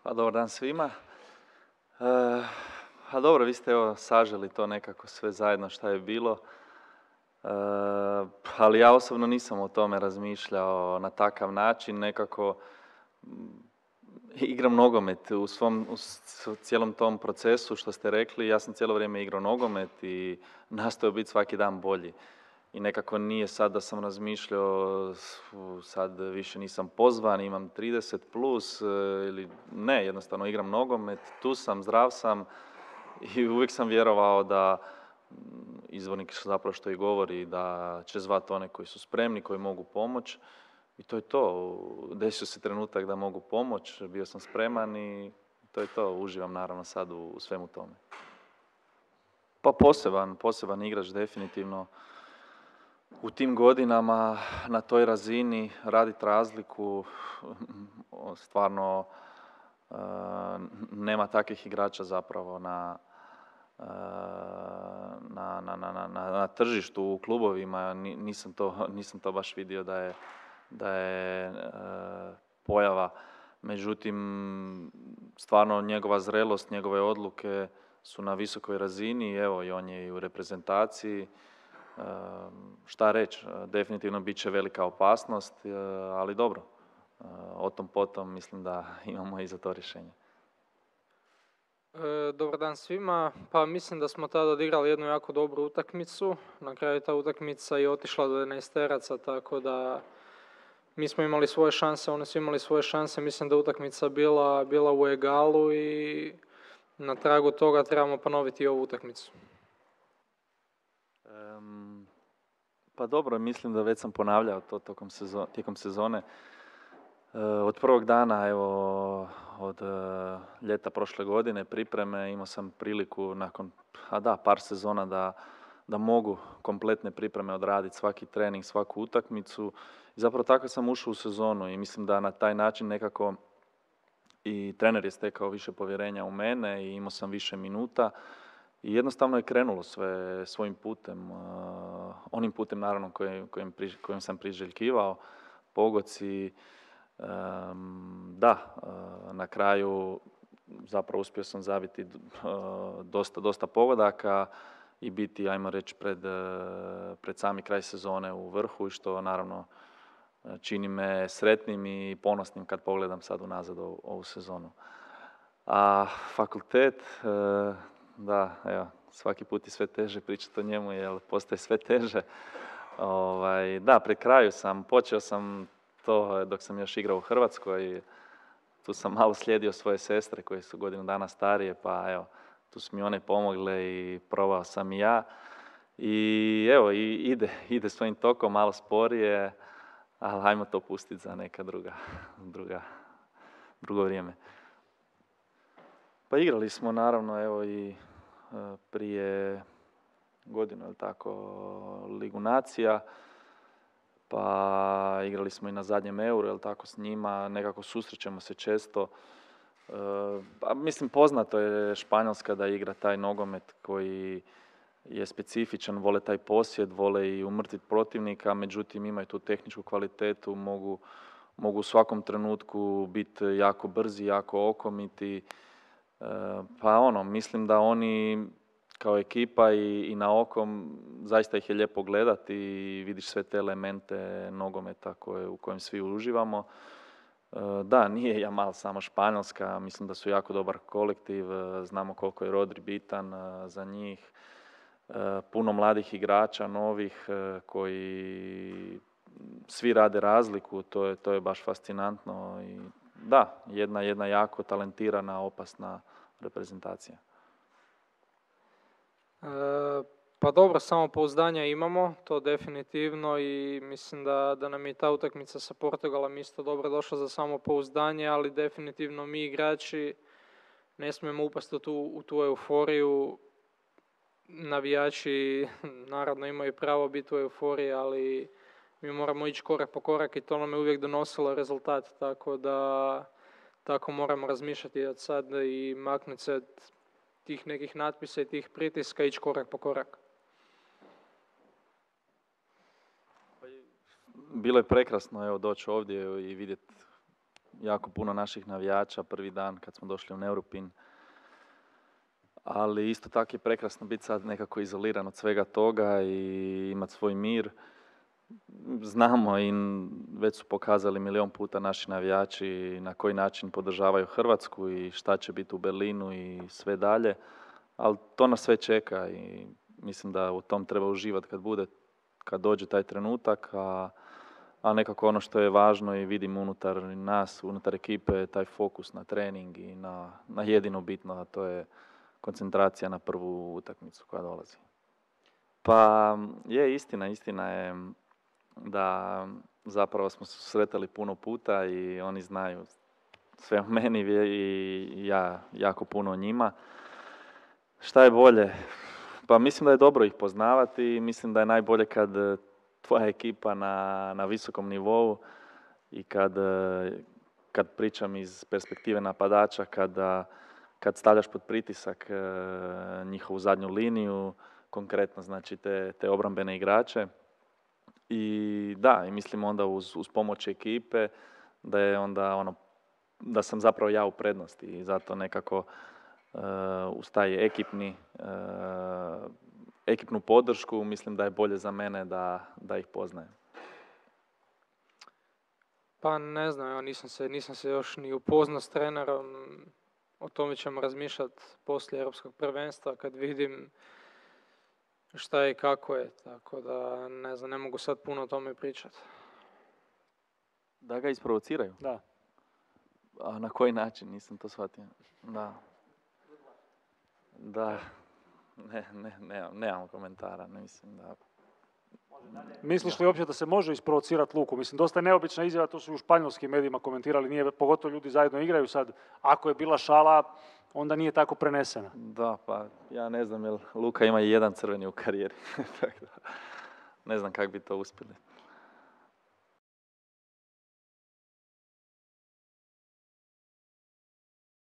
Pa dobar dan svima. A dobro, vi ste evo saželi to nekako sve zajedno šta je bilo. Ali ja osobno nisam o tome razmišljao na takav način, nekako igram nogomet u cijelom tom procesu što ste rekli. Ja sam cijelo vrijeme igrao nogomet i nastojao biti svaki dan bolji. I nekako nije sad da sam razmišljao, sad više nisam pozvan, imam 30 plus ili ne, jednostavno igram nogomet, tu sam, zdrav sam i uvijek sam vjerovao da izvornik zapravo što i govori, da će zvati one koji su spremni, koji mogu pomoći. I to je to. Desio se trenutak da mogu pomoći, bio sam spreman i to je to. Uživam naravno sad u svemu tome. Pa poseban igrač definitivno. U tim godinama, na toj razini, raditi razliku, stvarno nema takvih igrača zapravo na tržištu, u klubovima. Nisam to baš vidio da je pojava. Međutim, stvarno njegova zrelost, njegove odluke su na visokoj razini. Evo, i on je i u reprezentaciji. Šta reći, definitivno bit će velika opasnost, ali dobro, o tom potom mislim da imamo i za to rješenje. Dobar dan svima. Pa mislim da smo tada odigrali jednu jako dobru utakmicu. Na kraju ta utakmica je otišla do 11-teraca, tako da mi smo imali svoje šanse, oni su imali svoje šanse. Mislim da utakmica bila u egalu i na tragu toga trebamo ponoviti ovu utakmicu. Pa dobro, mislim da već sam ponavljao to tijekom sezone. Od prvog dana, evo, od ljeta prošle godine, pripreme, imao sam priliku nakon par sezona da mogu kompletne pripreme odraditi, svaki trening, svaku utakmicu. I zapravo tako sam ušao u sezonu i mislim da na taj način nekako i trener je stekao više povjerenja u mene i imao sam više minuta. I jednostavno je krenulo sve svojim putem, onim putem naravno kojim sam priželjkivao, pogoci. Na kraju zapravo uspio sam zabiti dosta pogodaka i biti, ajmo reći, pred sami kraj sezone u vrhu, i što naravno čini me sretnim i ponosnim kad pogledam sad unazad ovu sezonu. A fakultet, da, evo, svaki put je sve teže pričati o njemu jer postaje sve teže. Da, pri kraju počeo sam to dok sam još igrao u Hrvatskoj. Tu sam malo slijedio svoje sestre koje su godinu dana starije, pa evo, tu su mi one pomogle i probao sam i ja. I evo, ide svojim tokom, malo sporije, ali hajmo to pustiti za neka drugo vrijeme. Pa igrali smo naravno, evo, i prije godinu, ili tako, Ligu nacija, pa igrali smo i na zadnjem Euru, ili tako, s njima, nekako susrećemo se često. Mislim, poznato je Španjolska da igra taj nogomet koji je specifičan, vole taj posjed, vole i umrtviti protivnika, međutim imaju tu tehničku kvalitetu, mogu u svakom trenutku biti jako brzi, jako okomiti. Mislim da oni kao ekipa i na okom zaista ih je lijepo gledati i vidiš sve te elemente nogometa u kojem svi uživamo. Da, nije Jamal samo Španjolska, mislim da su jako dobar kolektiv, znamo koliko je Rodri bitan za njih. Puno mladih igrača, novih, koji svi rade razliku, to je baš fascinantno. I da, jedna jako talentirana, opasna reprezentacija. Pa dobro, samopouzdanja imamo, to definitivno, i mislim da nam je ta utakmica sa Portugalom isto dobro došla za samopouzdanje, ali definitivno mi igrači ne smijemo upasti u tu euforiju. Navijači naravno imaju pravo biti u euforiji, ali mi moramo ići korak po korak i to nam je uvijek donosilo rezultat, tako da tako moramo razmišljati od sad i maknuti se od tih nekih natpisa i tih pritiska, ići korak po korak. Bilo je prekrasno, evo, doći ovdje i vidjeti jako puno naših navijača prvi dan kad smo došli u Neuruppin. Ali isto tako je prekrasno biti sad nekako izoliran od svega toga i imati svoj mir. Znamo i već su pokazali milion puta naši navijači na koji način podržavaju Hrvatsku i šta će biti u Berlinu i sve dalje. Ali to nas sve čeka i mislim da u tom treba uživati kad dođe taj trenutak, a nekako ono što je važno i vidim unutar nas, unutar ekipe, taj fokus na trening i na jedino bitno, a to je koncentracija na prvu utakmicu koja dolazi. Pa je istina je da zapravo smo se susretali puno puta i oni znaju sve o meni i ja jako puno o njima. Šta je bolje? Pa mislim da je dobro ih poznavati i mislim da je najbolje kad tvoja ekipa na visokom nivou i kad pričam iz perspektive napadača, kad stavljaš pod pritisak njihovu zadnju liniju, konkretno znači te obrambene igrače. I da, i mislim onda uz pomoć ekipe da je onda da sam zapravo ja u prednosti i zato nekako uz taj ekipnu podršku mislim da je bolje za mene da ih poznajem. Pa ne znam, evo, nisam se još ni upoznao s trenerom. O tome ćemo razmišljati poslije Europskog prvenstva kad vidim šta je i kako je. Tako da ne znam, ne mogu sad puno o tome pričati. Da ga isprovociraju? Da. A na koji način? Nisam to shvatio. Da. Nemam komentara, ne mislim da... Misliš li uopće da se može isprovocirati Luku? Mislim, dosta je neobična izjava, to su i u španjolskim medijima komentirali, nije, pogotovo ljudi zajedno igraju sad. Ako je bila šala, onda nije tako prenesena. Da, pa ja ne znam, jer Luka ima i jedan crveni u karijeri. Ne znam kako bi to uspjeli.